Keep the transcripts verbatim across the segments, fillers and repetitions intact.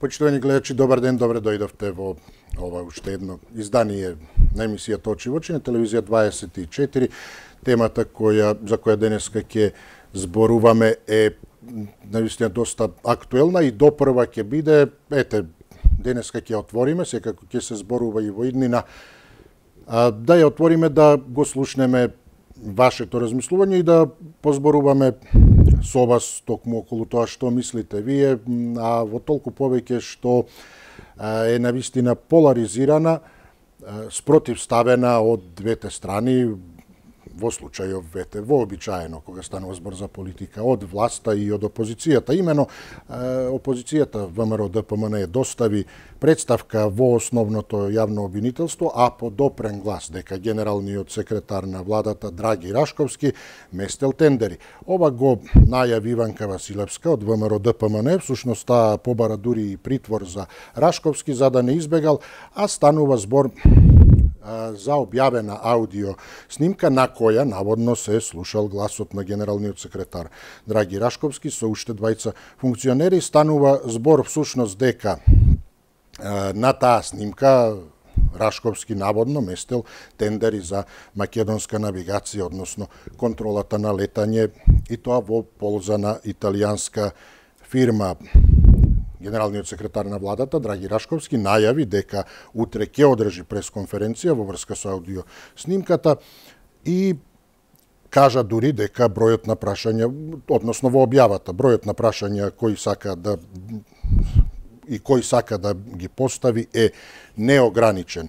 Почитувани гледачи, добар ден, добре дојдовте во ова уште едно издание на емисијата Очи во очи на телевизија дваесет и четири. Темата која за која денеска ќе зборуваме е навистина доста актуелна и допрва ќе биде, ете, денеска ќе отвориме, секако ќе се зборува и во иднина, да ја отвориме, да го слушнеме вашето размислување и да позборуваме со вас токму околу тоа што мислите вие, а во толку повеќе што е навистина поларизирана, спротивставена од двете страни, во случајов вете, вообичаено кога станува збор за политика, од власта и од опозицијата. Имено опозицијата ВМРО Д П М Н достави представка во основното јавно обвинителство, а по допрен глас дека генералниот секретар на владата Драги Рашковски местел тендери. Ова го најави Иванка Василевска од ВМРО Д П М Н, всушност таа побара дури и притвор за Рашковски за да не избегал, а станува збор за објавена аудио снимка на која наводно се слушал гласот на генералниот секретар Драги Рашковски со уште двајца функционери. Станува збор всушност дека на таа снимка Рашковски наводно местел тендери за македонска навигација, односно контролата на летање, и тоа во полза на италијанска фирма. Генералниот секретар на владата Драги Рашковски најави дека утре ќе одржи пресконференција во врска со аудио снимката и кажа дури дека бројот на прашања, односно во објавата, бројот на прашања кои сака да и кој сака да ги постави е неограничен.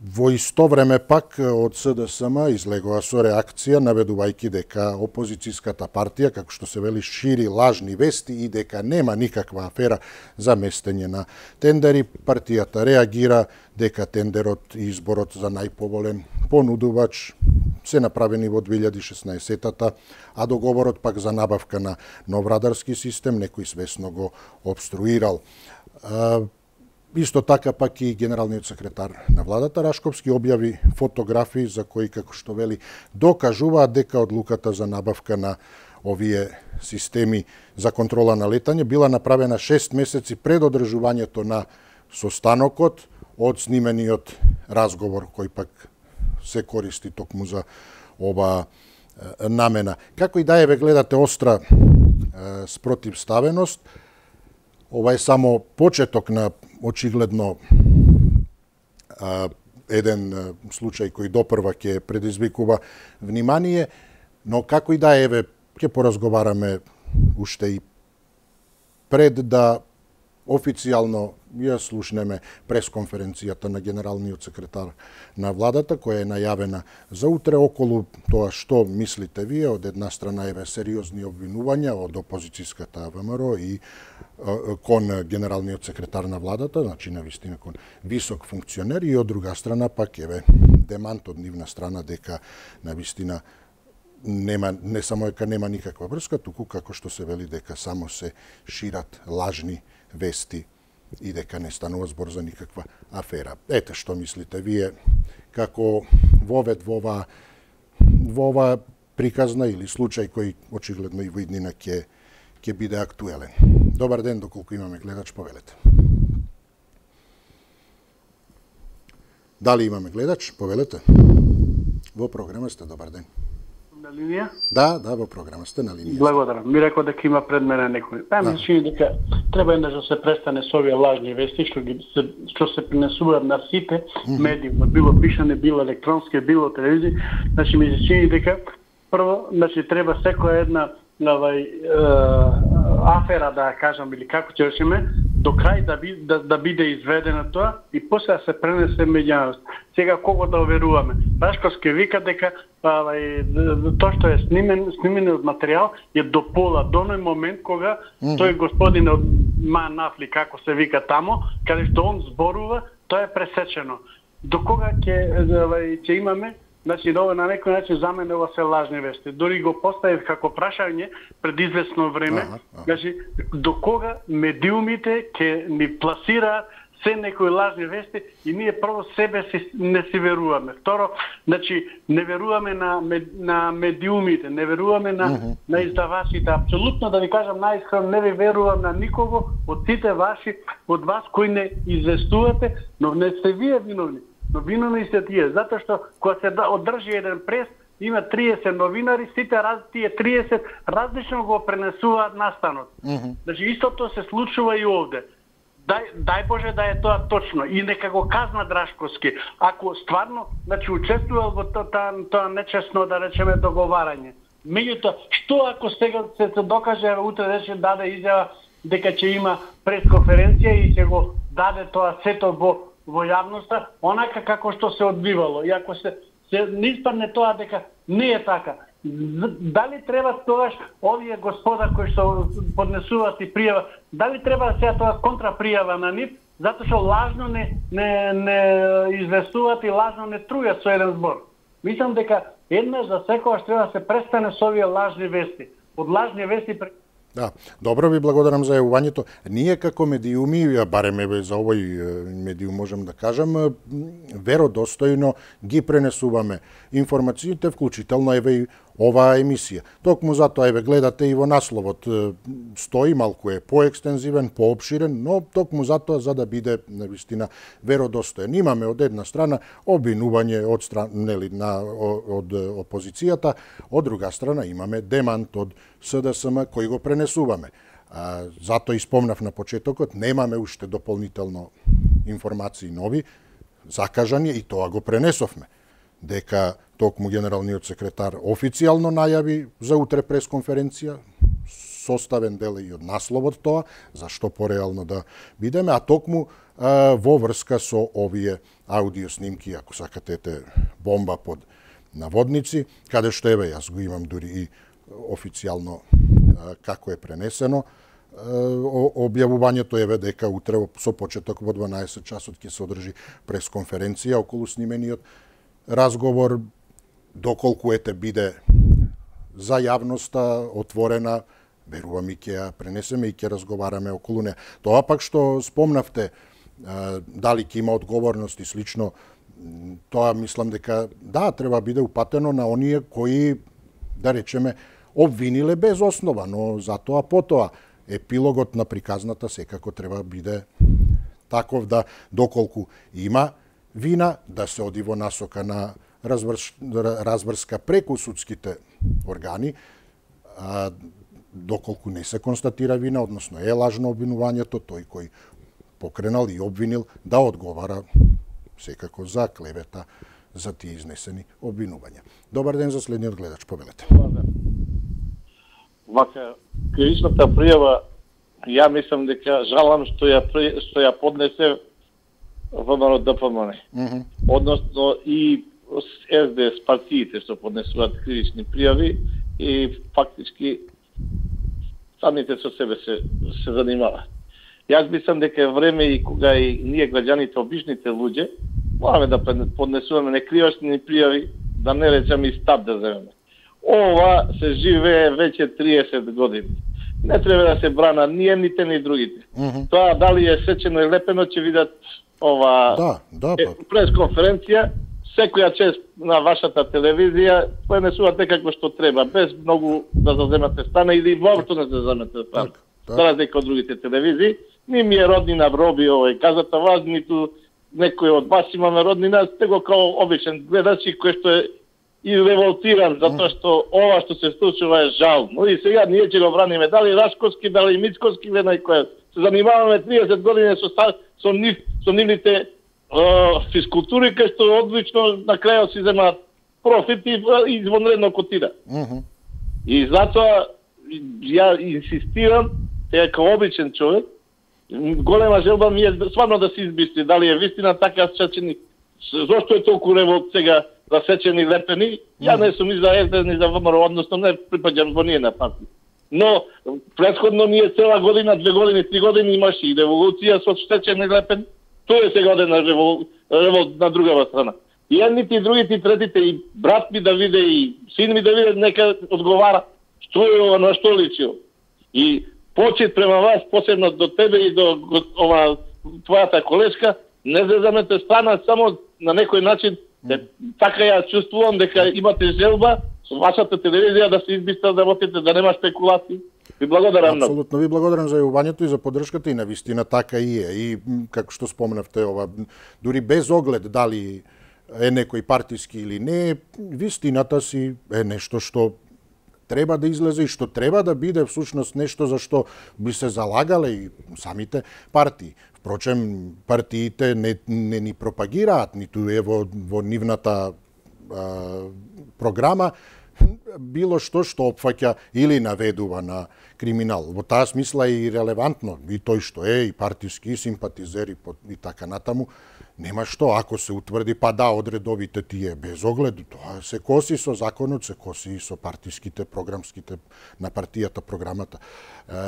Во исто време пак од С Д С М излегува со реакција наведувајќи дека опозицијската партија, како што се вели, шири лажни вести и дека нема никаква афера за местење на тендери. Партијата реагира дека тендерот и изборот за најповолен понудувач се направени во две илјади и шеснаесетата, а договорот пак за набавка на нов радарски систем некој свесно го обструирал. Исто така пак и генералниот секретар на владата Рашковски објави фотографии за кои, како што вели, докажуваат дека одлуката за набавка на овие системи за контрола на летање била направена шест месеци пред одржувањето на состанокот од снимениот разговор кој пак се користи токму за ова намена. Како и да е, ве гледате остра спротивставеност. Ова е само почеток на очигледно еден случај кој допрва ќе предизвикува внимание, но како и да е, еве, ќе поразговараме уште и пред да официјално ја слушнеме пресконференцијата на генералниот секретар на владата, која е најавена за утре, околу тоа што мислите вие. Од една страна еве сериозни обвинувања од опозицијската ВМРО и кон генералниот секретар на владата, значи навистина кон висок функционер, и од друга страна пак еве демант од нивна страна дека навистина нема, не само дека нема никаква врска, туку како што се вели дека само се шират лажни вести и дека не станува збор за никаква афера. Ете што мислите вие, како вовед во ова, во ова приказна или случај кој очигледно и во иднина ќе ќе биде актуелен. Добар ден, доколку имаме гледач, повелете. Дали имаме гледач? Повелете. Во програма сте, добар ден. На линија? Да, да, во програма сте на линија. Благодарам. Ми рекол дека има пред мене некој. Па ми се чини дека треба еднаш да се престане со овие лажни вести што ги се што се пренесуваат на сите медии, било пишане, било електронски, било телевизија. Значи ми се чини дека прво, значи треба секоја една навај афера, да кажам, или како ќе речеме, до крај да, би, да, да биде изведена тоа и после да се пренесе меѓу. Сега кого да веруваме? Рашковски вика дека тоа што е снимен, снимениот материјал е до пола, до оној момент кога mm -hmm. тој господин од Манафли, како се вика тамо, каде што он зборува, тоа е пресечено. До кога ќе ќе имаме значи на на некој начин за мене ова се лажни вести. Дори го поставив како прашање пред известно време, ага, ага. Значи до кога медиумите ќе ни пласираат се некои лажни вести и ние прво себе си не си веруваме. Второ, значи не веруваме на на медиумите, не веруваме на uh-huh. на издавачите. Апсолутно да ви кажам најискрено, не ви верувам на никого од сите ваши, од вас кои не известувате, но не сте вие виновни. Но виновни сте тие, затоа што кога се одржи еден прес, има триесет новинари, сите раз, тие триесет различно го пренесуваат настанот. Uh-huh. Значи истото се случува и овде. Дај, дај Боже да е тоа точно и нека го казна Драшковски. Ако стварно, значи учествувал во тоа, тоа нечесно, да речеме, договарање. Меѓутоа, што ако сега се, се докаже, утре рече даде изјава дека ќе има пресконференција и ќе го даде тоа сето во, во јавноста, онака како што се одбивало. И ако се, се не испадне тоа дека не е така, дали треба тогаш овие господа кои што поднесуваат и пријава, дали треба сега тоа контрапријава на нив, затоа што лажно не, не, не известуваат и лажно не трујат со еден збор. Мислам дека еднаш за секогаш треба да се престане со овие лажни вести. Од лажни вести... Да, добро ви благодарам за јавувањето. Ние како медиуми, барем еве за овој медиум можем да кажам, веродостојно ги пренесуваме информациите, вклучително еве и оваа емисија. Токму затоа еве гледате и во насловот стои, малку е поекстензивен, поопширен, но токму затоа за да биде навистина веродостоен. Имаме од една страна обвинување од страна нели на од опозицијата, од друга страна имаме демант од С Д С М кој го пренесуваме. А, затоа и спомнав на почетокот, немаме уште дополнително информации нови, закажани и тоа го пренесовме. Дека токму генералниот секретар официјално најави за утре пресконференција, составен дел и од насловот тоа, зашто пореално да бидеме, а токму а, во врска со овие аудио снимки, ако сакате, бомба под наводници, каде што еве јас го имам дури и официјално а, како е пренесено. Објавувањето еве дека утре со почеток во дванаесет часот ќе се одржи пресконференција околу снимениот разговор, доколку ете биде за јавноста отворена, верувам и ќе ја пренесеме и ќе разговараме околу неа. Тоа пак што спомнавте, дали ќе има одговорност и слично, тоа мислам дека да, треба биде упатено на оние кои, да речеме, обвиниле без основа, но затоа потоа епилогот на приказната секако треба биде таков да доколку има вина, да се оди во насока на разврш, разврска преку судските органи, а, доколку не се констатира вина, односно е лажно обвинувањето, тој кој покренал и обвинил да одговара секако за клевета за тие изнесени обвинувања. Добар ден за следниот гледач, повелете. Вака, кривичната пријава, ја мислам дека жалам што ја, што ја поднесе ВМРО Д П М Н. Mm-hmm. Односно и С Д С партиите што поднесуваат кривични пријави и фактички самите со себе се, се занимаваат. Јас мислам дека е време и кога и ние граѓаните, обичните луѓе, мораме да поднесуваме некривични пријави, да не речеме и стап да земеме. Ова се живее веќе триесет години. Не треба да се брана ни едните ни другите. Mm-hmm. Тоа дали е сечено и лепено ќе видат ова да, да, е, пресконференција, секоја чест на вашата телевизија пренесува некако што треба, без многу да заземате страна или воопшто не се заземате страна. За разлика од другите телевизии, ни ми е роднина вроби овој казата вас, ниту некој од вас имаме роднина, сте го као обичен гледач кој што е и револтиран, затоа што ова што се случува е жално. И сега ние ќе го браниме, дали Рашковски, дали Мицковски, ведна и која. Се занимаваме триесет години со, со, нив, со нивните е, физкултури, кај што одлично на крајот си земаат профит и извонредно котира. Uh-huh. И затоа ја инсистирам, сега као обичен човек, голема желба ми е стварно да се избисти, дали е вистина така сечени, зошто е толку револт сега засечени лепени, ја не сум ни за С Д С, ни за ВМРО, односно не припаѓам во ние на партија. Но претходно ние цела година, две години, три години имаше и револуција со сечени лепени, тоа е сега оден на револт, револт на другава страна. И едните, и другите, и третите, и брат ми да виде, и син ми да виде, нека одговара што е ова, на што личил. И почет према вас, посебно до тебе и до ова твојата колешка, не зезамете страна само на некој начин. Mm. Така ја чувствувам дека имате желба со вашата телевизија да се избистрат работите, да нема спекулации. Ви благодарам многу. Апсолутно ви благодарам за јавувањето и за поддршката и навистина така и е. И како што споменавте ова, дури без оглед дали е некој партиски или не, вистината си е нешто што треба да излезе и што треба да биде всушност нешто за што би се залагале и самите партии. Впрочем, партиите не, не ни пропагираат, ниту е во, во нивната а, програма, било што што опфаќа или наведува на криминал. Во таа смисла е и релевантно, и тој што е, и партиски, и симпатизери, и така натаму. Нема што, ако се утврди, па да, одредовите тие без оглед, тоа се коси со законот, се коси со партиските, програмските, на партијата, програмата,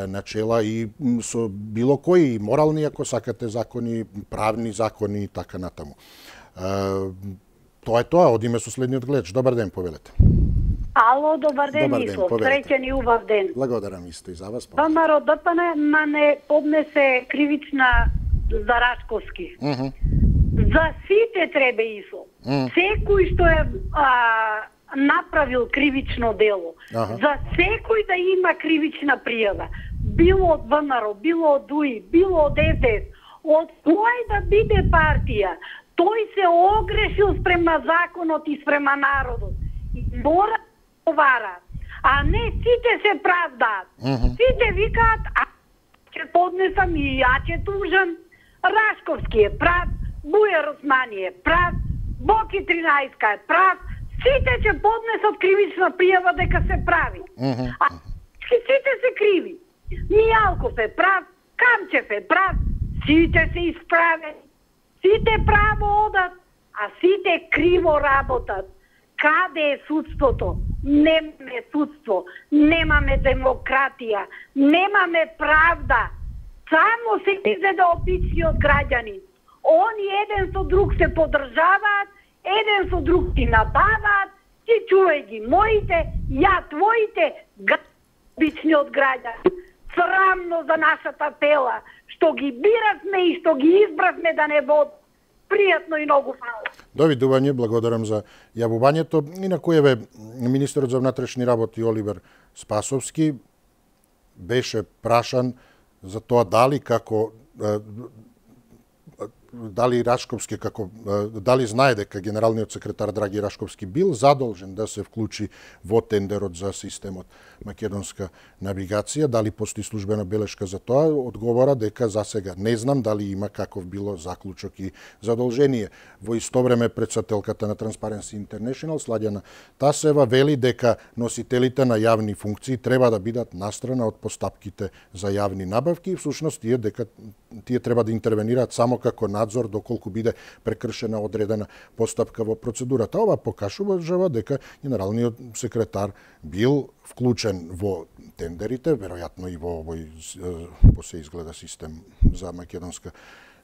начела и со било кои морални, ако сакате, закони, правни закони и така натаму. Тоа е тоа, одиме со следниот гледач. Добар ден, повелете. Ало, добар ден, добар Мисло. Ден, Среќен и убав ден. Благодарам исто и за вас. ВМРО ДПН ма не поднесе кривична за Рашковски. Uh -huh. За сите треба ИСО. Mm. Секој што е а, направил кривично дело, ага. За секој да има кривична пријава, било од ВМРО, било од УИ, било од Ес Де Ес, од кој да биде партија, тој се огрешил спрема законот и спрема народот. И мора да отговара, а не сите се правдаат. Mm -hmm. Сите викаат, а ќе поднесам и ја ќе тужам. Рашковски е прав, Бујар Османи е прав, Боки тринаесет е прав, сите ќе поднесат кривична пријава дека се прави. Uh -huh. А сите се криви. Мијалков е прав, Камчев е прав, сите се исправени. Сите право одат, а сите криво работат. Каде е судството? Немаме судство, немаме демократија, немаме правда. Само се изеда обичниот граѓанин. Они еден со друг се поддржаваат, еден со друг ти набаваат, ти чувај ги моите, ја твоите, обичниот граѓанин. Срамно за нашата тела, што ги биравме и што ги избравме да не вод. Пријатно и многу фала. Довидување, благодарам за јавувањето. Инаку еве министерот за внатрешни работи Оливер Спасовски беше прашан за тоа дали како дали Рашковски како дали знае дека генералниот секретар Драги Рашковски бил задолжен да се вклучи во тендерот за системот македонска навигација, дали постои службена белешка за тоа, одговора дека за сега не знам дали има каков било заклучок и задолжение. Во исто време претседателката на Transparency International Сладјана Тасева вели дека носителите на јавни функции треба да бидат настрана од постапките за јавни набавки и всушност тие дека тие треба да интервенираат само како надзор доколку биде прекршена одредена постапка во процедурата. Ова покажува дека генералниот секретар бил вклучен во тендерите, веројатно и во овој по се изгледа систем за македонска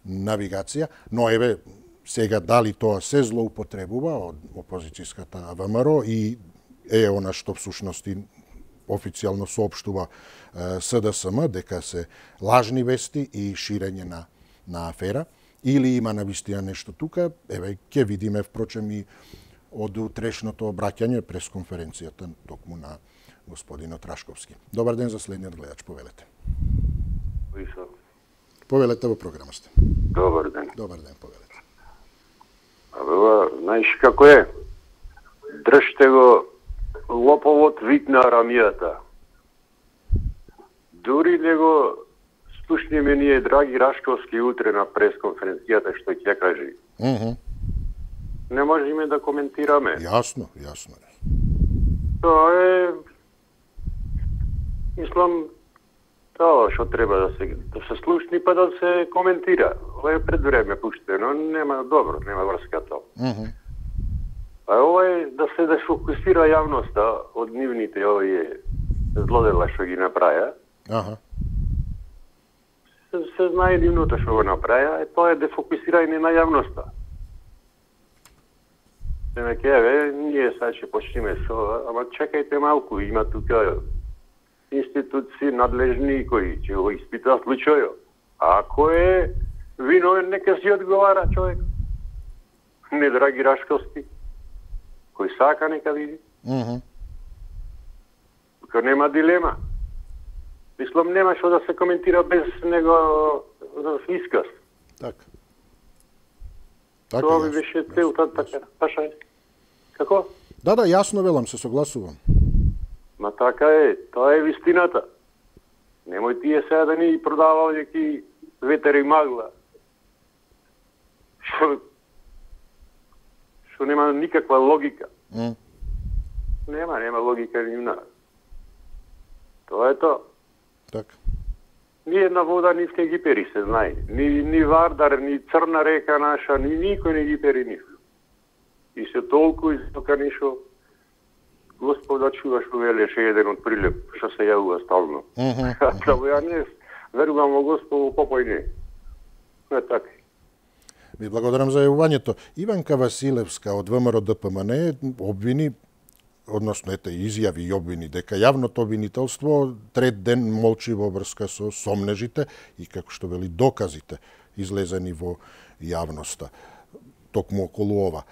навигација, но еве сега дали тоа се злоупотребува од опозицијската ВМРО и е она што всушност официјално соопштува С Д С М дека се лажни вести и ширење на на афера, или има навистина нешто тука, еве ќе видиме впрочем и од утрешното обраќање прес конференцијата токму на господинот Рашковски. Добар ден за следниот гледач, повелете. Повелете во програма сте. Добар ден. Добар ден, повелете. Абе, знаеш како е? Држте го лоповот вид на рамијата. Дури не го слушниме ние Драги Рашковски утре на пресконференцијата што ќе кажи. Uh -huh. Не можеме да коментираме. Јасно, јасно. Тоа е, мислам, тоа што треба да се да се слушни па да се коментира. Ова е пред време пуштено, нема добро, нема врска тоа. Uh -huh. А ова е да се дефокусира јавноста од нивните овие злодела што ги направија. Аха. Се, се знае нивното што го направија, е тоа е дефокусирање на јавноста. се ме кеве, ние сега ќе почнеме со ова, ама чекајте малку, има тука институции надлежни кои ќе го испитаат случајот. Ако е виновен, нека си одговара човек. Не, драги Рашковски, кој сака нека види. Мхм. Тука нема дилема. Мислам, нема што да се коментира без него исказ. Така. Така, Тоа би јасно, беше јасно, целта, јасно. така. Пашај. Како? Да, да, јасно велам, се согласувам. Ма така е, тоа е вистината. Немој тие сега да ни продава овдеки ветер и магла. Што што нема никаква логика. М. Нема, нема логика ни на. Тоа е тоа. Така. Ни една вода ни не ги пери, се знае. Ни, ни Вардар, ни Црна река наша, ни никој не ги пери нив. И се толку изтоканишо, Господа чува што велеше еден од Прилеп, што се јавува стално. Мгм. Само ја не верувам во Господу, попој не. Не така. Ви благодарам за јавувањето. Иванка Василевска од ВМРО Д П М Н обвини, односно ете изјави и обвини дека јавното обвинителство трет ден молчи во врска со сомнежите и како што вели доказите излезени во јавноста токму околу ова.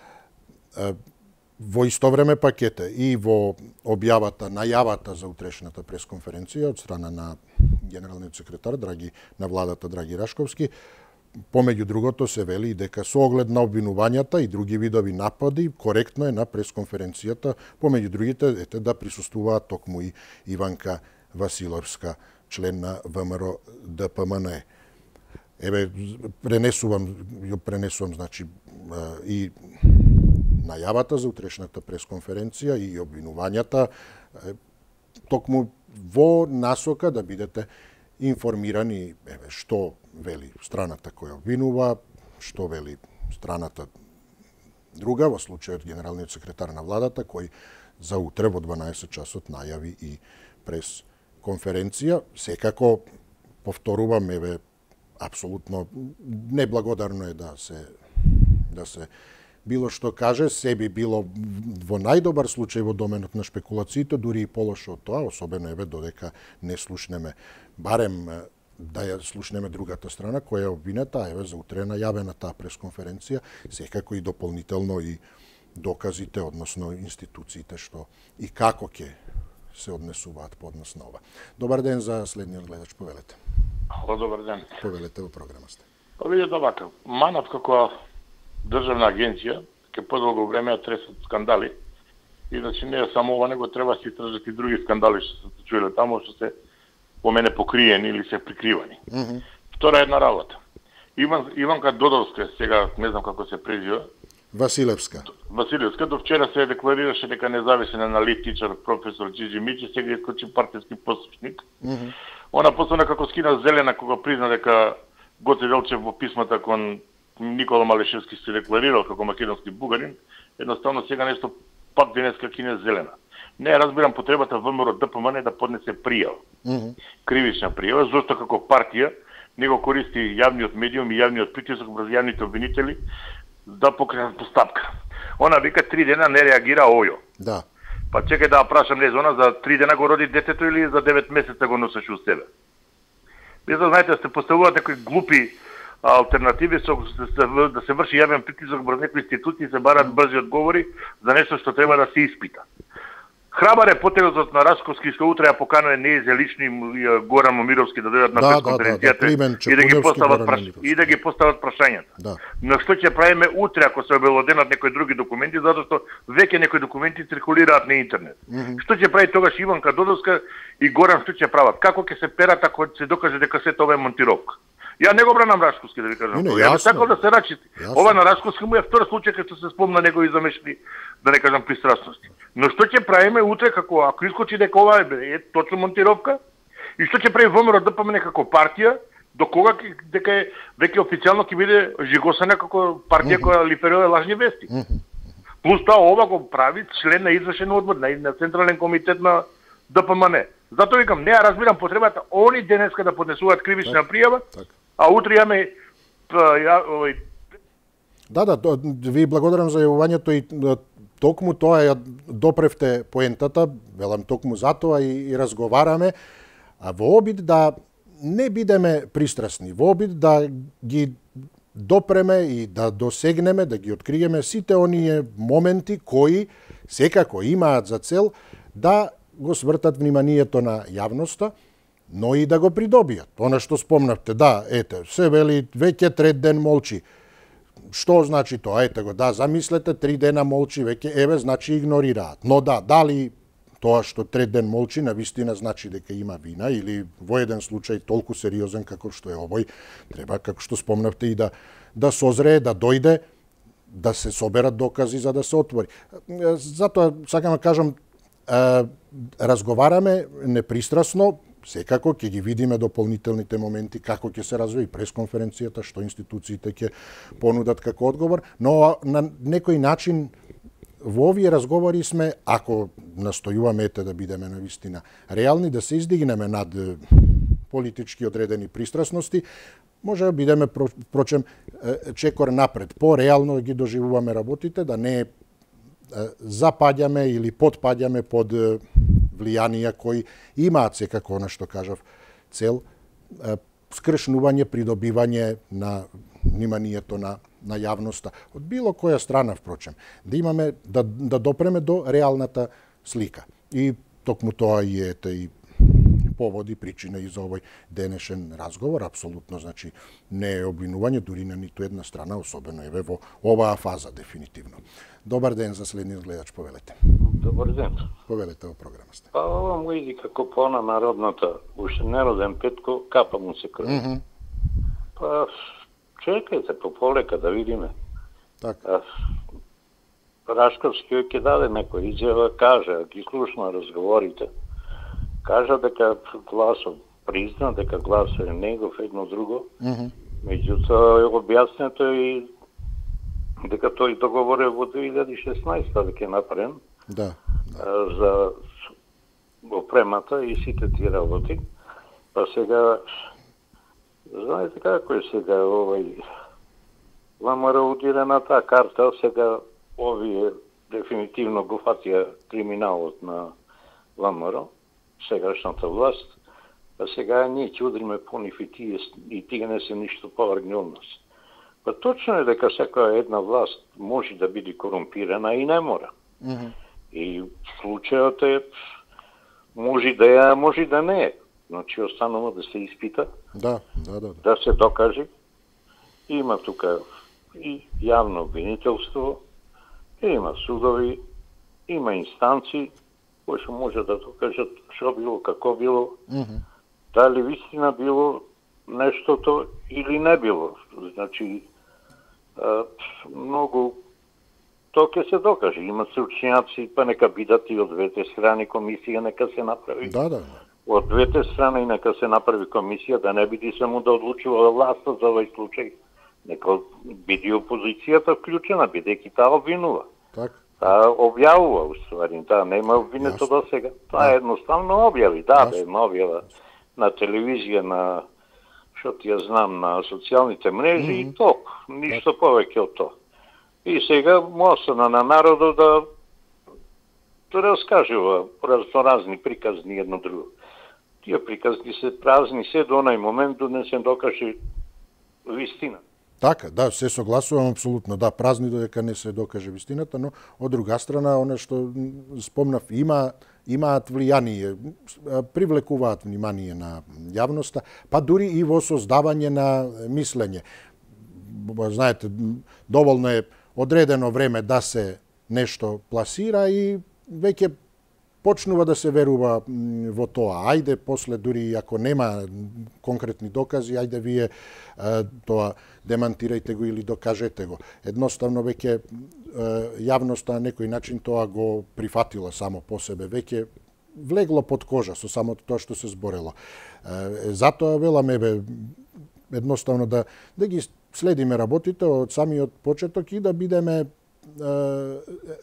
Во исто време пакете и во објавата, најавата за утрешната пресконференција од страна на генералниот секретар Драги на владата Драги Рашковски, помеѓу другото се вели дека со оглед на обвинувањата и други видови напади, коректно е на пресконференцијата, помеѓу другите, ете да присуствуваат токму и Иванка Василевска, член на ВМРО Д П М Н. Еве, пренесувам, ја пренесувам, значи, и најавата за утрешната пресконференција и обвинувањата, токму во насока да бидете информирани, еве, што вели страната која обвинува, што вели страната друга, во случајот генералниот секретар на владата, кој за утре во дванаесет часот најави и прес конференција. Секако, повторувам, еве, апсолутно неблагодарно е да се да се било што каже, се би било во најдобар случај во доменот на шпекулациите, дури и полошо од тоа, особено еве додека не слушнеме, барем да ја слушнеме другата страна која е обвинета, еве за утре најавена таа пресконференција, секако и дополнително и доказите, односно институциите што и како ќе се однесуваат по однос на ова. Добар ден за следниот гледач, повелете. Ало, добар ден. Повелете во програма сте. Па видите овака, МАНАВ како државна агенција ке подолго време ја тресат скандали и значи не е само ова, него треба се истражат и други скандали што се чуеле таму, што се по мене покриени или се прикривани. Mm -hmm. Втора една работа. Иван, Иванка Додовска, сега не знам како се презива. Василевска. Василевска, до вчера се декларираше дека независен аналитичар професор Џиџи Мичи, сега искочи партиски послушник. Mm -hmm. Она посебно како скина зелена кога призна дека Гоце Делчев во писмата кон Никола Малешевски се декларирал како македонски бугарин, едноставно сега нешто пак денеска кине зелена. Не разбирам потребата ВМРО Д П М Н да поднесе пријава. Mm -hmm. Кривична пријава, зашто како партија него користи јавниот медиум и јавниот притисок врз јавните обвинители да покренат постапка. Она вика три дена не реагира ојо. Да. Па чекај да ја прашам, не, она за три дена го роди детето или за девет месеца го носеше у себе? Вие да знаете, да се поставуваат некои глупи алтернативи со да се врши јавен притисок врз некои институции, се барат брзи одговори за нешто што треба да се испита. Храбар е потезот на Рашковски што утре ја поканува Нејзе лично и Горан Момировски да дојдат на да, пресконференцијата да, да, и да ги постават праш... и да ги постават прашањата. Да. Но што ќе правиме утре ако се обелоденат некои други документи, затоа што веќе некои документи циркулираат на интернет. Mm -hmm. Што ќе прави тогаш Иванка Додовска и Горан, што ќе прават? Како ќе се перат ако се докаже дека се тоа е монтировка? Ја не го бранам Рашковски, да ви кажам. Не, не, ја би сакал да се рачи. Јасно. Ова на Рашковски му е втор случај кога се спомна негови замешни, да не кажам, пристрасности. Но што ќе правиме утре како ако искочи дека ова е, е точно монтировка? И што ќе прави ВМРО Д П М Н како партија, до кога дека е веќе официјално ќе биде жигосана како партија mm -hmm. која лиферира лажни вести. Mm -hmm. Плюс тоа ова го прави член на извршен одбор на, на Централен комитет на Д П М Н. Затоа викам, не ја разбирам потребата они денеска да поднесуваат кривична так, пријава, так. А утре јаме ја, овој... Да, да, ви благодарам за јавувањето и токму тоа ја допревте поентата, велам токму затоа и, и разговараме, а во обид да не бидеме пристрасни, во обид да ги допреме и да досегнеме, да ги откриеме сите оние моменти кои секако имаат за цел да го свртат вниманието на јавноста, но и да го придобијат. Она што спомнавте, да, ете, се вели веќе трет ден молчи. Што значи тоа? Ете го, да, замислете, три дена молчи, веќе, еве, значи игнорираат. Но да, дали тоа што трет ден молчи навистина значи дека има вина или во еден случај толку сериозен како што е овој, треба, како што спомнавте, и да, да созрее, да дојде, да се соберат докази за да се отвори. Затоа, сакам да кажам, разговараме непристрасно, секако ќе ги видиме дополнителните моменти, како ќе се развие пресконференцијата, што институциите ќе понудат како одговор, но на некој начин во овие разговори сме, ако настојуваме ете да бидеме навистина реални, да се издигнеме над политички одредени пристрасности, може да бидеме, впрочем, чекор напред, по-реално ги доживуваме работите, да не запаѓаме или подпаѓаме под влијанија кои имаат секако, она што кажав, цел скршнување, придобивање на вниманието на на јавноста од било која страна, впрочем, да имаме да да допреме до реалната слика. И токму тоа и ете и поводи, причина и за овој денешен разговор, апсолутно, значи, не е обвинување дури на ниту една страна, особено еве во оваа фаза дефинитивно. Добар ден за следниот гледач, повелете. Добар ден. Повелете во програма сте. Па ова му иди како пона народната, уште нероден Петко, капа му се крв. Mm -hmm. Па чекајте пополека да видиме. Така. Рашковски ќе даде некој изјава, кажа, ги слушна разговорите. Кажа дека гласот призна, дека гласот е негов едно друго. Mm -hmm. Меѓутоа е објаснето и дека тој договоре во две илјади и шеснаесета дека е направен. Да, да. За опремата и сите тие работи. Па сега, знаете како е сега овој ВМРО удира на таа карта, сега овие дефинитивно го фатија криминалот на ВМРО, сегашната власт, а сега ние ќе удриме по нив и тие, и тие не се ништо повргни од нас. Па точно е дека секоја една власт може да биде корумпирана и не мора. Mm -hmm. И случајот е, може да е, може да не е. Значи, останува да се испита, да, да, да, да се докаже. Има тука и јавно обвинителство, има судови, има инстанции, кои што може да докажат што било, како било, mm -hmm. дали вистина било нештото или не било. Значи, а, многу тоа ќе се докаже. Има стручњаци, па нека бидат и од двете страни комисија, нека се направи. Да, да. Од двете страни нека се направи комисија, да не биде само да одлучува власта за овој случај. Нека биде опозицијата вклучена, бидејќи таа обвинува. Так. Таа објавува, уствари, таа нема обвинето до сега. Таа едноставно објави, да, да, објава на телевизија, на, што ти ја знам, на социјалните мрежи mm -hmm. и толку, ништо так. Повеќе од тоа. И сега мосна на народот да да раскажува разни приказни едно друго. Тие приказни се празни се до онај момент да не се докаже вистина. Така, да, се согласувам апсолутно, да, празни додека не се докаже вистината, но од друга страна, она што спомнав, има имаат влијание, привлекуваат внимание на јавноста, па дури и во создавање на мислење. Знаете, доволно е одредено време да се нешто пласира и веќе почнува да се верува во тоа. Ајде, после дури ако нема конкретни докази, ајде вие тоа демантирајте го или докажете го. Едноставно веќе јавноста на некој начин тоа го прифатила само по себе, веќе влегло под кожа со самото тоа што се зборело. Затоа веламе бе едноставно да да ги следиме работите од самиот почеток и да бидеме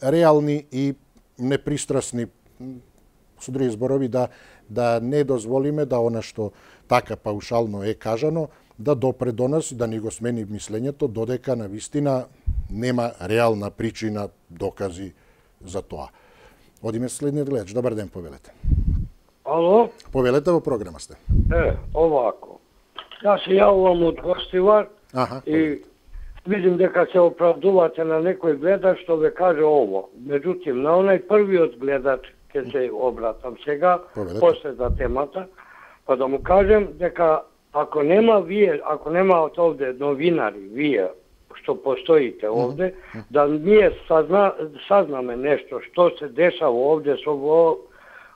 реални и непристрасни, со други зборови, да да не дозволиме да она што така паушално е кажано да допре до нас и да ни го смени мислењето, додека на вистина нема реална причина, докази за тоа. Одиме следниот гледач. Добар ден, повелете. Ало? Повелете, во програма сте. Е, овако. Јас се јавувам од Гостивар Аха, и видим дека се оправдувате на некој гледач што ве каже ово. Меѓутоа, на онај првиот гледач ќе се обратам сега, Повелете. после за темата, па да му кажем дека ако нема вие, ако нема овде новинари, вие што постоите овде, mm -hmm. да ние сазна, сазнаме нешто што се дешава овде со во,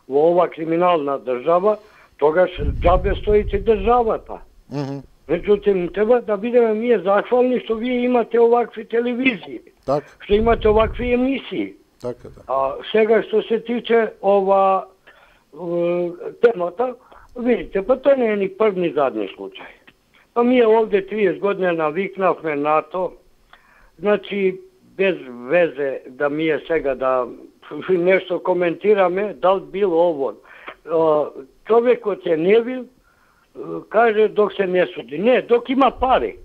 во ова криминална држава, тогаш џабе стоите државата. Mm -hmm. Меѓутоа, треба да бидеме ние захвални што вие имате овакви телевизии, Так. што имате овакви емисии. Така, да. А сега што се тиче ова е, темата, видите, па тоа не е ни прв ни задни случај. Па ние овде триесет години навикнавме на то, значи без везе да ми е сега да нешто коментираме, дал било ово. Човекот е невин, каже док се не суди. Не, док има пари.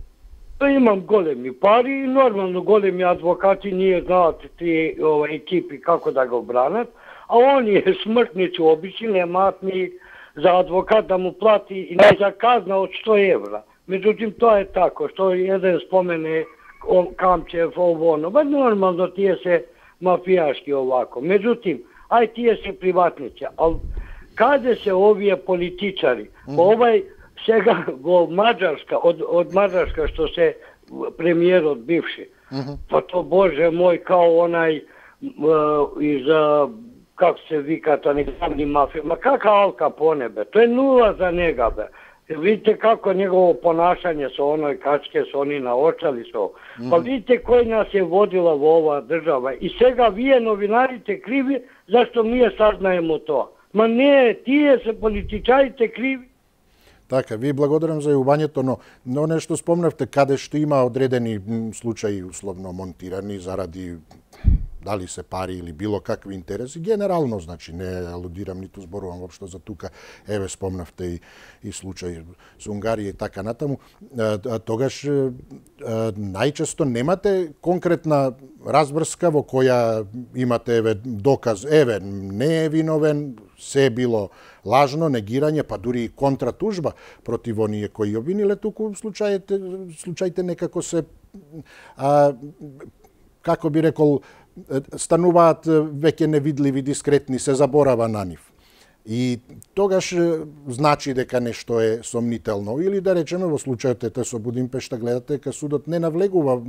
Па имам големи пари и нормално големи адвокати ние знаат тие ова екипи како да го бранат, а оние смртници обични немаат ни за адвокат да му плати и не за казна од сто евра. Меѓутоа тоа е тако, што еден спомене Камчев, ово, но ба нормално тие се мафијашки овако. Меѓутоа, ај тие се приватници, ал каде се овие политичари? Mm -hmm. Овај сега во Маđarска, од, од Маđarска што се премиерот бивши, mm -hmm. па то Боже мој, као онај из, како се вика, тоа не главни мафија, ма кака Ал Капоне, бе, тоа е нула за нега, бе. Видите како негово понашање со оној качке, со они наочали со. Mm -hmm. Па видите кој нас е водила во оваа држава. И сега вие новинарите криви, зашто ние сазнаемо тоа. Ма не, тие се политичарите криви. Така, ви благодарам за јавувањето, но, но нешто спомнавте каде што има одредени случаи условно монтирани заради дали се пари или било какви интереси, генерално, значи, не алудирам, ниту зборувам воопшто за тука, еве спомнавте и, и случај со Унгарија и така натаму, а, а, тогаш а, најчесто немате конкретна разврска во која имате еве доказ, еве не е виновен, се е било лажно, негирање, па дури и контратужба против оние кои обвиниле, туку случаите, случаите некако се, а, како би рекол, стануваат веќе невидливи, дискретни, се заборава на нив. И тогаш значи дека нешто е сомнително. Или да речеме во случајот ете со Будимпешта, гледате дека судот не навлегува,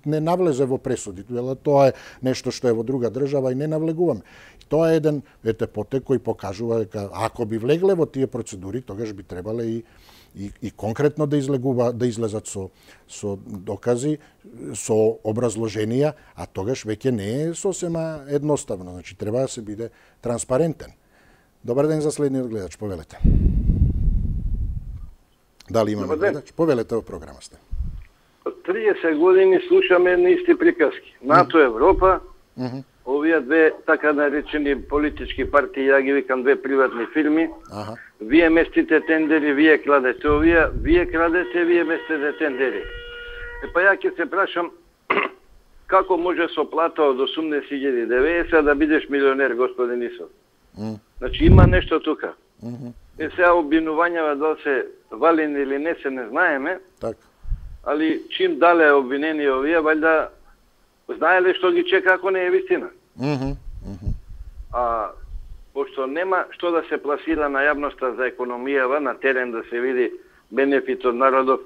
не навлезе во пресуди. Тоа е нешто што е во друга држава и не навлегуваме. Тоа е еден ете потек кој покажува дека ако би влегле во тие процедури, тогаш би требале и И, и конкретно да излегува, да излезат со, со докази, со образложенија, а тогаш веќе не е сосема едноставно. Значи, треба да се биде транспарентен. Добар ден за следниот гледач, повелете. Дали имаме гледач? Повелете во програма сте. триесет години слушаме едни исти приказки. НАТО, Европа, mm -hmm. овие две така наречени политички партии, ја ги викам две приватни фирми, ага. Вие местите тендери, вие крадете овие, вие крадете, вие местите тендери. Е па ја ќе се прашам, како може со плата од осумдесет илјади деведесет да бидеш милионер, господин Исов? Mm. Значи има нешто тука. Mm -hmm. Е сега обвинувањава дали се валени или не се не знаеме, так. Али чим дале обвинени овие, вајда знаеле што ги чека ако не е вистина. Mm -hmm. Mm -hmm. А пошто нема што да се пласира на јавноста за економијава, на терен да се види бенефит од народов,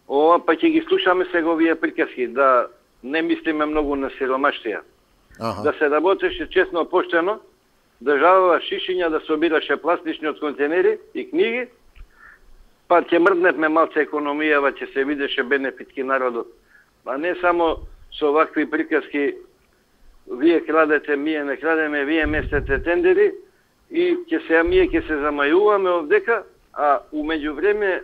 ова па ќе ги слушаме сега овие приказки, да не мислиме многу на сиромаштија. Ага. Да се работеше честно, поштено, државава шишиња да собираше пластични од контейнери и книги, па ќе мрдневме малце економијава, ќе се видеше бенефитки народот. А не само со вакви приказки, вие крадете, ние не крадеме, вие местете тендери и ќе се ние ќе се замајуваме овдека, а умеѓу време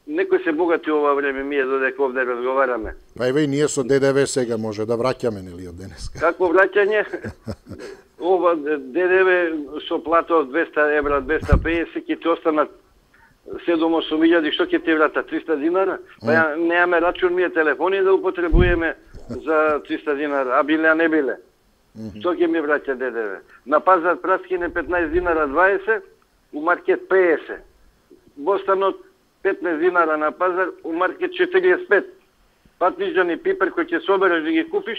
некој се богати ова време, ние додека овде разговараме. Па еве и ние со ДДВ сега може да враќаме, нели, од денеска? Како враќање? Ова ДДВ со плата од двеста евра, двеста педесет, ќе ти останат седум-осум илјади, што ќе ти врата? триста динара? Па ја немаме рачун, ние телефони да употребуваме за триста динара, а биле, а не биле. Што ќе ми враќа ДДВ? На пазар праскине петнаесет динара дваесет, у маркет педесет. Бостанот петнаесет динара на пазар, у маркет четириесет пет. Патнижан и пипер кој ќе собереш да ги купиш,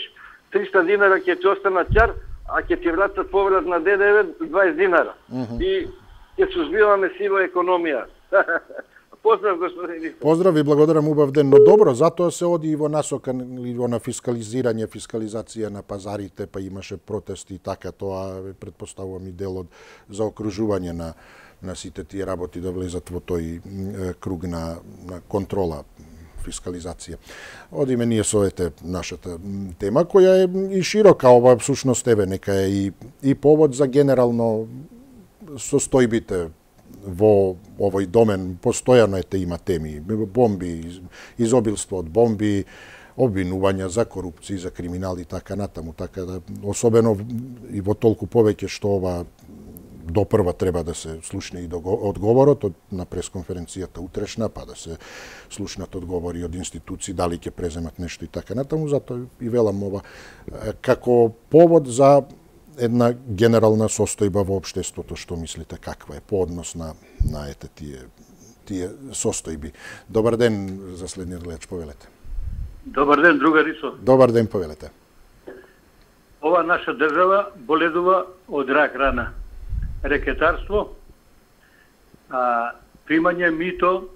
триста динара ќе ти останат ќар, а ќе ти вратат поврат на ДДВ дваесет динара. Uh -huh. И ќе сузбиваме сива економија. Поздрав, господин. Поздрав и благодарам, убав ден. Но добро, затоа се оди и во насока и во на фискализирање, фискализација на пазарите, па имаше протести и така, тоа предпоставувам и дел од заокружување на на сите тие работи да влезат во тој е, круг на, на контрола, фискализација. Одиме ние со ете нашата тема, која е и широка, ова всушност еве нека е и, и повод за генерално состојбите во овој домен. Постојано ете има теми, бомби, изобилство од бомби, обвинувања за корупција, за криминал и така натаму, така да особено и во толку повеќе што ова допрва треба да се слушне и одговорот од на пресконференцијата утрешна, па да се слушнат одговори од институции, дали ќе преземат нешто и така натаму, затоа и велам ова како повод за една генерална состојба во општеството. Што мислите, каква е по однос на на ете тие тие состојби? Добар ден за следниот гледач, повелете. Добар ден, другар Исо. Добар ден, повелете. Ова наша држава боледува од рак рана. Рекетарство, а, примање мито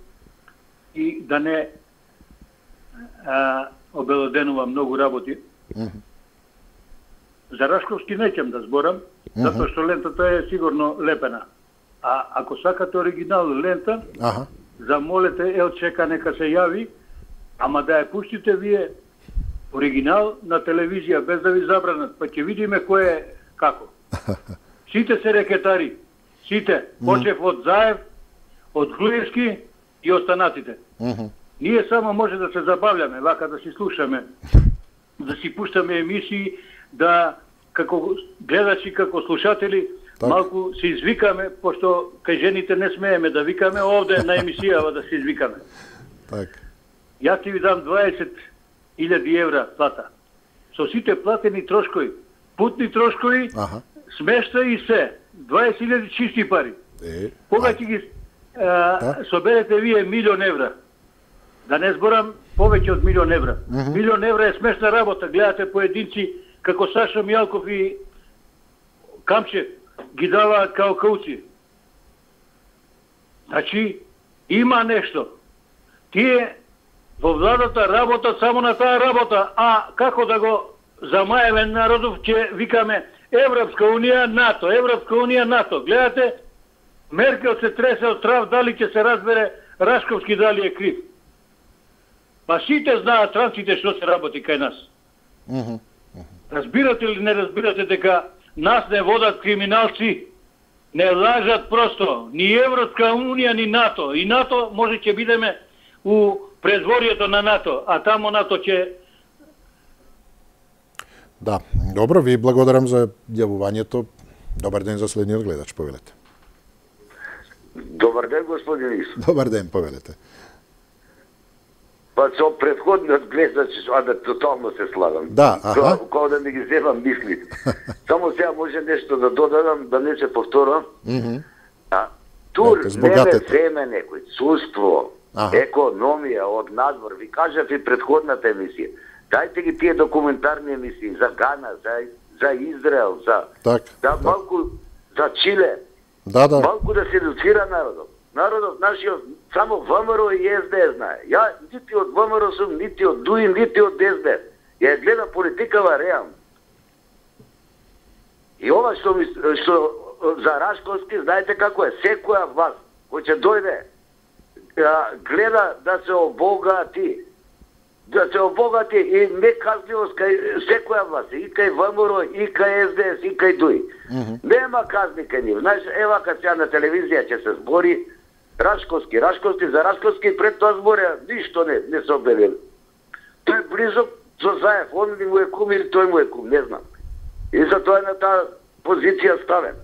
и да не а, обелоденува многу работи. Mm-hmm. За Рашковски неќем да зборам, mm-hmm. затоа што лентата е сигурно лепена. А ако сакате оригинал лента, uh-huh. замолете Елчека нека се јави, ама да ја пуштите вие оригинал на телевизија без да ви забранат, па ќе видиме кој е како. Сите се рекетари, сите, почев од Заев, од Глуевски и останатите. Mm-hmm. Ние само може да се забавляме, вака да си слушаме, да си пуштаме емисии, да како гледачи, како слушатели, так. Малку се извикаме, пошто кај жените не смееме да викаме, овде на емисијава да се извикаме. Так. Јас ти ви дам дваесет илјади евра плата. Со сите платени трошкови, путни трошкови, ага. Смешта и се, дваесет илјади чисти пари. Е, Кога ќе ги а, да? соберете вие милион евра, да не зборам повеќе од милион евра. Uh -huh. Милион евра е смешна работа, гледате поединци како Саша Мијалков и Камчев ги даваат као кауци. Значи, има нешто. Тие во владата работат само на таа работа, а како да го замаеме народов, ќе викаме Европска унија, НАТО, Европска унија, НАТО. Гледате, Меркел се тресе од трав, дали ќе се разбере Рашковски дали е крив. Па сите знаат странците што се работи кај нас. Uh -huh. Uh -huh. Разбирате или не разбирате дека нас не водат криминалци, не лажат просто, ни Европска унија, ни НАТО. И НАТО може ќе бидеме у предворието на НАТО, а тамо НАТО ќе... Да, добро, ви благодарам за јавувањето. Добар ден за следниот гледач, повелете. Добар ден, господин Исо. Добар ден, повелете. Па со предходниот гледач, а да тотално се слагам. Да, аха. Кога да ми ги земам мисли. Само сега може нешто да додадам, да не се повторам. Mm -hmm. А, тур не ме земе некој, чувство, ага. економија од надвор. Ви кажав и предходната емисија. Дајте ги тие документарни емисии за Гана, за, за Израел, за, так, да, так. малку за Чиле. Да, да. Малку да се едуцира народот. Народот нашиот само ВМРО и ес де ес знае. Ја нити од ВМРО сум, нити од ДУИ, нити од ес де ес. Ја гледа политикава реално. И ова што, ми, што за Рашковски, знаете како е, секоја власт кој ќе дојде, гледа да се обогати. Да се обогати и неказливост кај секоја власт, и кај ВМРО, и кај ес де ес, и кај ДУИ. Mm -hmm. Нема казни кај нив. Знаеш, ева кај сега на телевизија ќе се збори Рашковски, Рашковски, за Рашковски пред тоа зборија, ништо не, не се обелели. Тој близок со Заев, он ли му е кум или тој му е кум, не знам. И за тоа е на таа позиција ставен.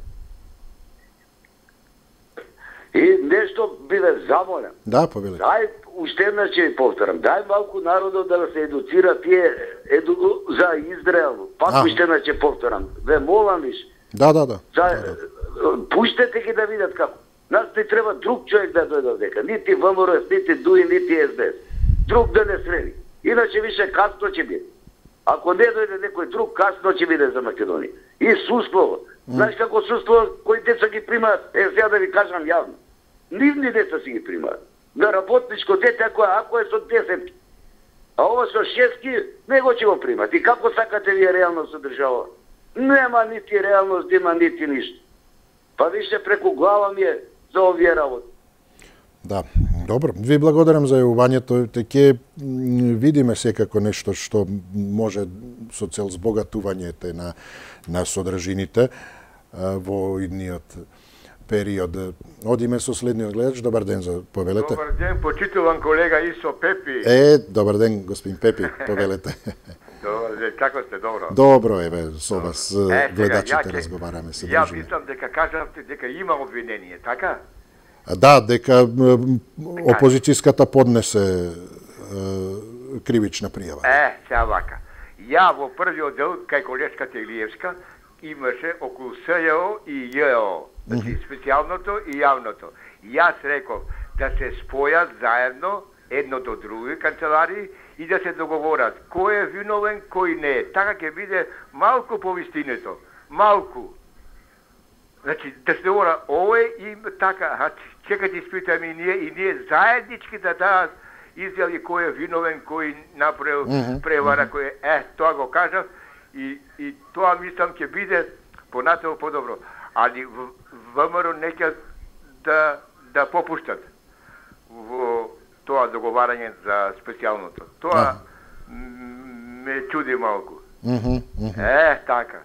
И нешто биде замолен. Да, повелете. Дај уште една ќе повторам. Дај малку народот да се едуцира тие еду, за Израел. Пак а. уште една ќе повторам. Ве молам виш. Да, да, да. За, да, да. Пуштете ги да видат како. Нас не треба друг човек да дојде овдека. Нити ВМРО, нити ДУИ, нити ес де ес. Друг да не среди. Иначе више касно ќе биде. Ако не дојде некој друг, касно ќе биде за Македонија. И суство. Mm. Знаеш како суство, кои деца ги примаат, е сега да ви кажам јавно. Нивни деца си ги примаат. На работничко дете, ако, ако е со десет, а ова со шестки, него ќе го примат. И како сакате вие реално со држава? Нема нити реалност, нема нити ништо. Па више преку глава ми е за овие работи. Да, добро. Ви благодарам за јавувањето. Ќе видиме секако нешто што може со цел збогатувањето на на содржините во идниот период. Одиме со следниот гледач. Добар ден, за повелете. Добар ден, почитуван колега Исо Пепи. Е, добар ден, господин Пепи, повелете. Добар ден, како сте, добро? Добро, еве, со вас е, гледачите сега, разговараме, се Ја дружиме. мислам дека кажавте дека има обвинение, така? Да, дека опозицијската поднесе е, кривична пријава. Е, сега вака. Ја во првиот дел, кај колешката Илиевска, имаше околу СЈО и ЈО, значи специјалното и јавното. Јас реков да се спојат заедно, едно до други канцелари, и да се договорат кој е виновен, кој не е. Така ќе биде малку по вистинето. Малку. Значи, да се договора овој и така, а чекате испитаме и ние, и ние заеднички да дадат изјави кој е виновен, кој направил mm-hmm. превара, кој е, е, тоа го кажав, и, и тоа мислам ќе биде понатаму подобро. Али ВМРО не ќе да, да попуштат во тоа договарање за специјалното. Тоа ме чуди малку. Mm-hmm. Mm-hmm. Е, така.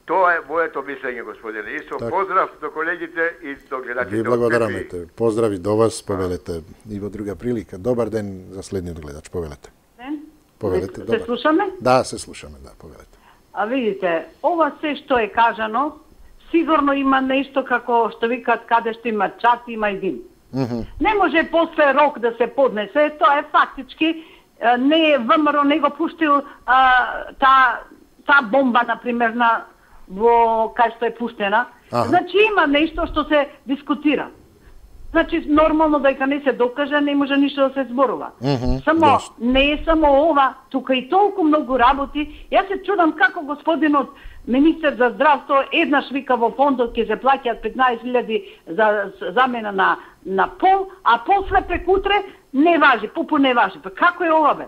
Тоа е моето мислење, господине. Исто, так. Поздрав до колегите и до гледачите. Ви благодараме. Поздрави до вас, повелете и во друга прилика. Добар ден за следниот гледач, повелете. Ден. Повелете, се, добар. се слушаме? Да, се слушаме, да, повелете. А видите, ова се што е кажано, сигурно има нешто како што викат каде што има чат, има и дим. Mm-hmm. Не може после рок да се поднесе, тоа е фактички, не е ВМРО не го пуштил а, та, та бомба, например, на во кај што е пуштена. Ага. Значи има нешто што се дискутира. Значи нормално дека не се докаже, не може ништо да се зборува. Mm-hmm. Само yes. не е само ова, тука и толку многу работи. Јас се чудам како господинот министер за здравство еднаш вика во фондот ќе се плаќаат петнаесет илјади за замена на на пол, а после прекутре не важи, пупу не важи. Па како е ова бе?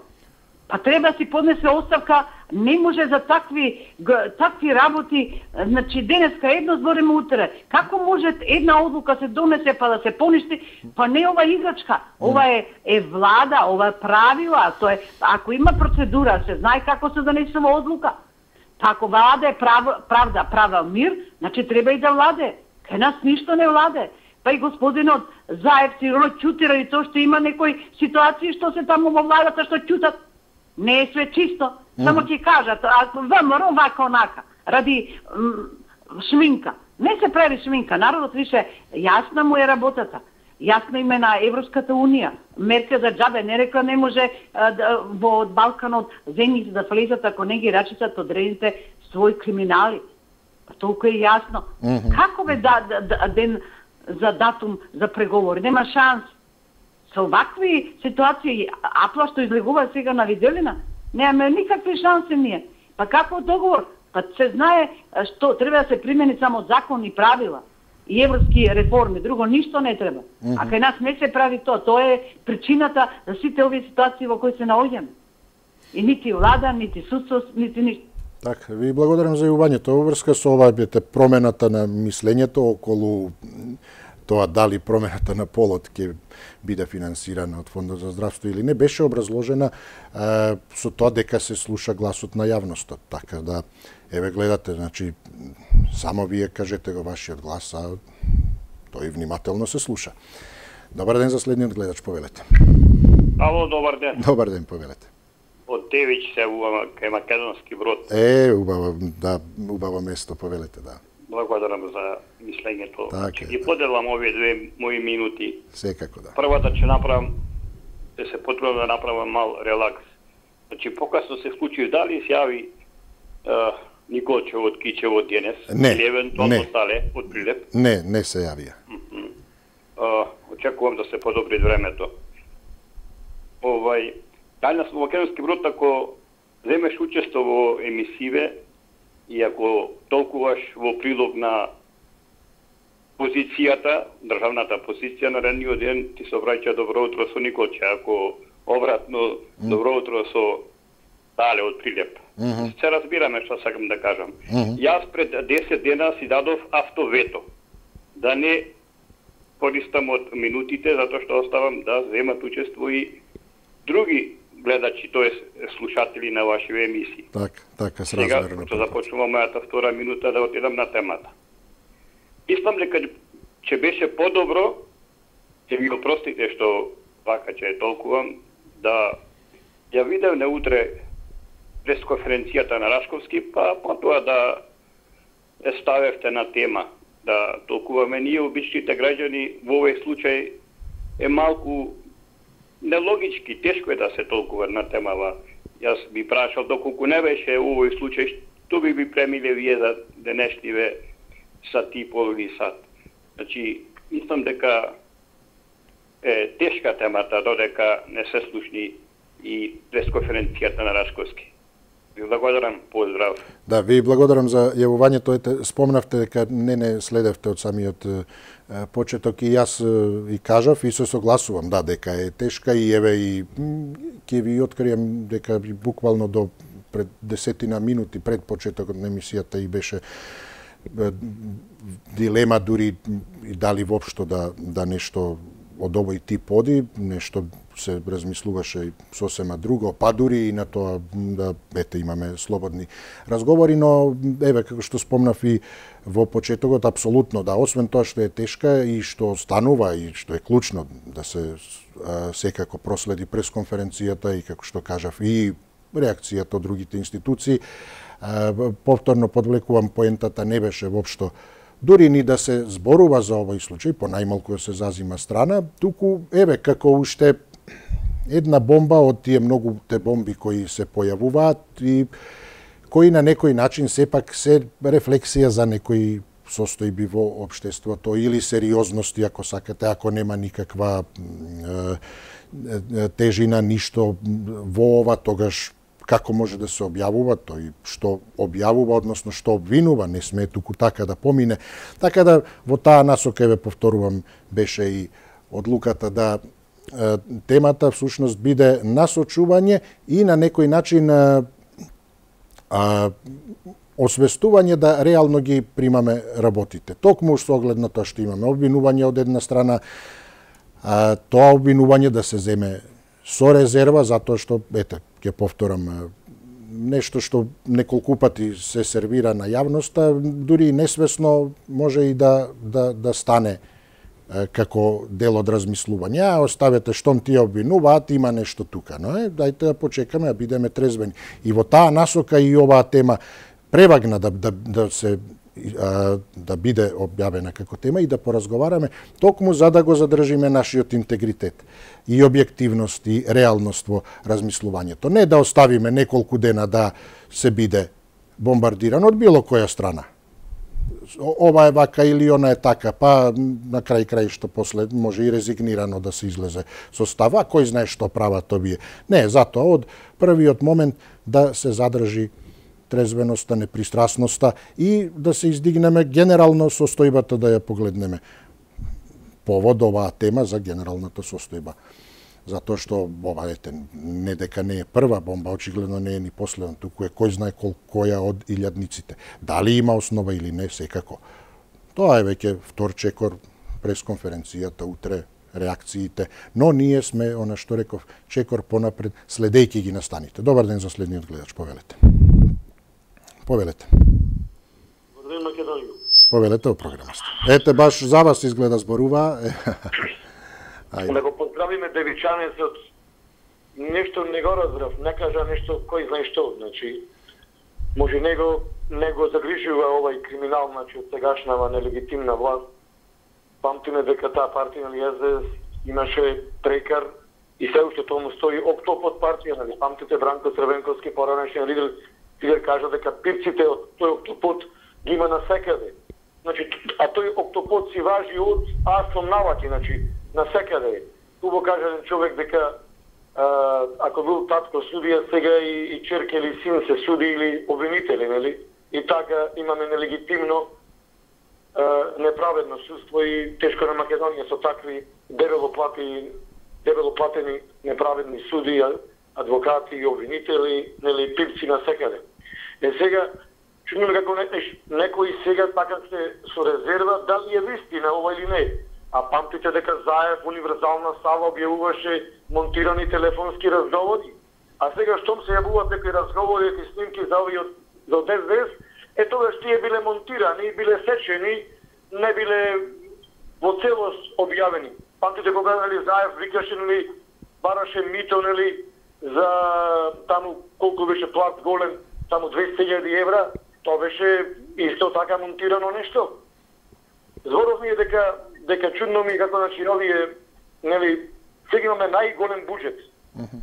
Па треба си поднесе оставка, не може за такви такви работи, значи денеска едно збориме утре. Како може една одлука се донесе па да се поништи? Па не ова играчка, ова е е влада, ова е правила, тоа е ако има процедура, се знае како се донесува одлука. Па ако влада е прав, правда, права мир, значи треба и да владе. Кај нас ништо не владе. Па и господинот Заев сигурно чути ради тоа што има некои ситуации што се таму во владата што чутат. Не е све чисто. Само ќе кажат, а ВМРО вака онака, ради шминка. Не се прави шминка, народот више јасна му е работата. Јасна име на Европската унија. Мерка за џабе не рекла не може а, да, во Балканот земјите да влезат ако не ги рачитат одредените своји криминали. Па толку е јасно. Mm-hmm. Како бе да, да, да, ден за датум за преговори? Нема шанс. Со вакви ситуации, Апла што излегува сега на Виделина, немаме никакви шанси ние. Па како договор? Па се знае што треба да се примени само закон и правила и европски реформи, друго ништо не треба. Mm-hmm. А кај нас не се прави тоа, тоа е причината за сите овие ситуации во кои се наоѓаме. И нити влада, нити судство, нити ништо. Така, ви благодарам за јавувањето. Во врска со ова бете промената на мислењето околу тоа дали промената на полот ќе биде финансирана од Фондот за здравство или не, беше образложена е, со тоа дека се слуша гласот на јавностот. Така да, еве гледате, значи, само вие кажете го вашиот глас, а тој внимателно се слуша. Добар ден за следниот гледач, повелете. Ало, добар ден. Добар ден, повелете. Од Девич се убава кај Македонски Брод. Е, убаво, да, убаво место, повелете, да. Благодарам за мислењето. Так Ќе е, ги да. поделам овие две мои минути. Секако, да. Првата ќе направам да се потрудам да направам мал релакс. Значи, покасно се случи, дали се јави а, Николчев од Кичево денес? Не, или евентуално не. Стале од Прилеп? Не, не се јавија. Mm-hmm. А, очекувам да се подобри времето. Овај, дали на Македонски брод, ако земеш учество во емисиве и ако толкуваш во прилог на позицијата, државната позиција на ранниот ден, ти се враќа добро утро со Николче, ако обратно mm. добро утро со Стале од Прилеп. Mm -hmm. Се разбираме што сакам да кажам. Mm -hmm. Јас пред десет дена си дадов автовето да не користам од минутите, затоа што оставам да земат учество и други гледачи, тоа слушатели на вашите емисии. Так, така, сразмерно. Сега, што започнувам мојата втора минута да отидам на темата. Мислам дека че беше подобро, ќе ми опростите што вака ќе толкувам, да ја видев на утре пресконференцијата на Рашковски, па потоа да ја ставевте на тема, да толкуваме ние обичните граѓани. Во овој случај е малку нелогички, тешко е да се толкува на темава. Јас би прашал, доколку не беше овој случај, што би би премиле вие за денешниве сат и пол или сат. Значи, мислам дека е тешка темата, додека не се слушни и пресконференцијата на Рашковски. Ви благодарам, поздрав. Да, ви благодарам за јавувањето. Ете, спомнавте дека не не следевте од самиот е, почеток и јас е, и кажав и се согласувам, да, дека е тешка и еве и ќе ви открием дека буквално до пред десетина минути пред почетокот на емисијата и беше е, дилема дури и дали воопшто да да нешто од овој тип оди, нешто се размислуваше и сосема друго, па дури и на тоа да ете имаме слободни разговори, но еве како што спомнав и во почетокот, апсолутно да, освен тоа што е тешка и што станува и што е клучно да се а, секако проследи пресконференцијата и како што кажав и реакцијата од другите институции, а, повторно подвлекувам, поентата не беше воопшто дури ни да се зборува за овој случај, по најмалку да се зазима страна, туку еве како уште една бомба од тие многу те бомби кои се појавуваат и кои на некој начин сепак се рефлексија за некои состојби во општеството или сериозности, ако сакате, ако нема никаква е, тежина, ништо во ова, тогаш како може да се објавува, тој што објавува, односно што обвинува, не смее туку така да помине. Така да во таа насока, еве повторувам, беше и одлуката да е, темата всушност биде насочување и на некој начин е, а, освестување да реално ги примаме работите. Токму со оглед на тоа што имаме обвинување од една страна, а, тоа обвинување да се земе со резерва, затоа што, ете, ќе повторам, нешто што неколку пати се сервира на јавноста, дури и несвесно може и да, да, да стане е, како дел од размислување. А, оставете штом тие обвинуваат, има нешто тука. Но е, дајте да почекаме, да бидеме трезвени. И во таа насока и оваа тема превагна да, да, да се да биде објавена како тема и да поразговараме токму за да го задржиме нашиот интегритет и објективност и реалност во размислувањето. Не да оставиме неколку дена да се биде бомбардиран од било која страна. Ова е вака или она е така, па на крај крај што после може и резигнирано да се излезе со став, а кој знае што прават овие. Не, затоа од првиот момент да се задржи трезвеноста, непристрасноста и да се издигнеме генерално состојбата, да ја погледнеме повод оваа тема за генералната состојба. Затоа што ова ете не дека не е прва бомба, очигледно не е ни последна, туку е кој знае колкоја од илјадниците. Дали има основа или не, секако. Тоа е веќе втор чекор пресконференцијата утре, реакциите, но ние сме, она што реков, чекор понапред, следејќи ги настаните. Добар ден за следниот гледач, повелете. Повелете. Добар Македонија. Повелете о програмаста. Ете, баш за вас изгледа зборува. Да го поздравиме девичанецот. Нешто не го разбрав, не кажа нешто кој знае што. Значи, може него не го загрижува овај криминал, значи, од сегашнава нелегитимна власт. Памтиме дека таа партија на Ј З С имаше трекар и се уште тому стои Октопод партија, нали, памтите Бранко Црвенковски, поранешен лидер, лидер кажа дека пипците од тој Октопод ги има насекаде. Значи, а тој Октопод си важи од аз сум наваки, значи, насекаде. Тубо каже еден човек дека а, ако бил татко судија, сега и, и черка или син се суди или обвинители, нели? И така имаме нелегитимно а, неправедно судство и тешко на Македонија со такви дебело плати, дебело платени неправедни суди, адвокати и обвинители, нели, пипци насекаде. Е сега чудно како некои сега така се со резерва дали е вистина ова или не. А памтите дека Заев универзална сала објавуваше монтирани телефонски разговори. А сега штом се јавуваат некои разговори и снимки за овие за дес дес, е тогаш тие биле монтирани, биле сечени, не биле во целост објавени. Памтите кога нели Заев викаше нели бараше мито нели за таму колку беше плат голем, таму двесте илјади евра, тоа беше исто така монтирано нешто. Зборов ми е дека дека чудно ми како значи овие нели сега имаме најголем буџет.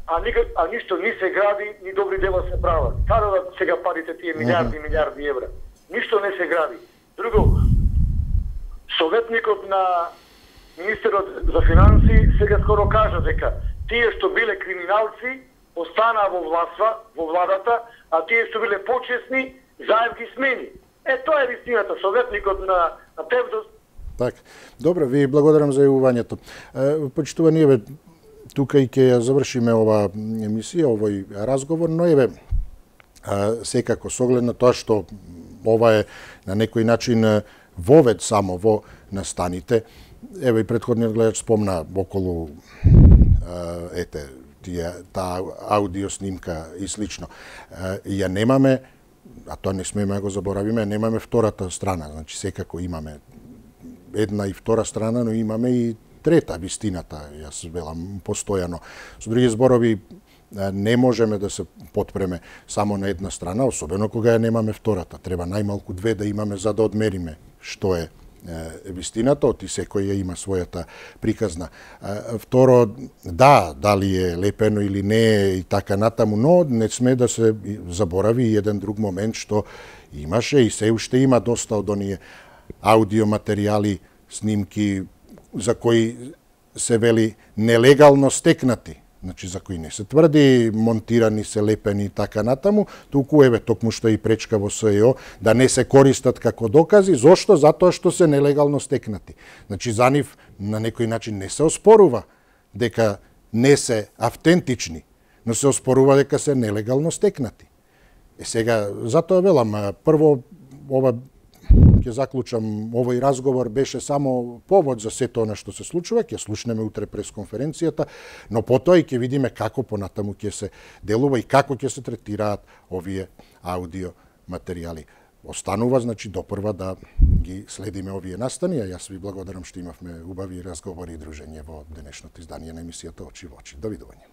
А никак а ништо ни се гради, ни добри дела се прават. Каде сега парите тие милиарди, милиарди евра? Ништо не се гради. Друго, советникот на министерот за финансии сега скоро кажа дека тие што биле криминалци останаа во властва, во владата, а тие што биле почесни, Заев ги смени. Е, тоа е вистината, советникот на, на Тевдос. Така. Добро, ви благодарам за јавувањето. Почитувани, еве, тука и ќе ја завршиме ова емисија, овој разговор, но еве, секако, со оглед на тоа што ова е на некој начин вовед само во настаните, еве и претходниот гледач спомна околу ете, тие, таа аудио снимка и слично. Ја немаме, а тоа не смееме да го заборавиме, немаме втората страна, значи секако имаме една и втора страна, но имаме и трета, вистината, јас велам постојано. Со други зборови, не можеме да се потпреме само на една страна, особено кога ја немаме втората. Треба најмалку две да имаме за да одмериме што е вистината, оти секој ја има својата приказна. Второ, да, дали е лепено или не и така натаму, но не сме да се заборави и еден друг момент што имаше и се уште има доста од оние аудиоматеријали, снимки за кои се вели нелегално стекнати, значи за кои не се тврди монтирани, се лепени и така натаму, туку еве токму што и пречка во СЕО да не се користат како докази. Зошто? Затоа што се нелегално стекнати. Значи за нив на некој начин не се оспорува дека не се автентични, но се оспорува дека се нелегално стекнати. Е сега, затоа велам, прво ова ќе заклучам, овој разговор беше само повод за сето она што се случува, ќе слушнеме утре пресконференцијата, но потоа и ќе видиме како понатаму ќе се делува и како ќе се третираат овие аудио материјали. Останува, значи, допрва да ги следиме овие настани, а јас ви благодарам што имавме убави разговори и дружење во денешното издание на емисијата Очи во очи. Довидување.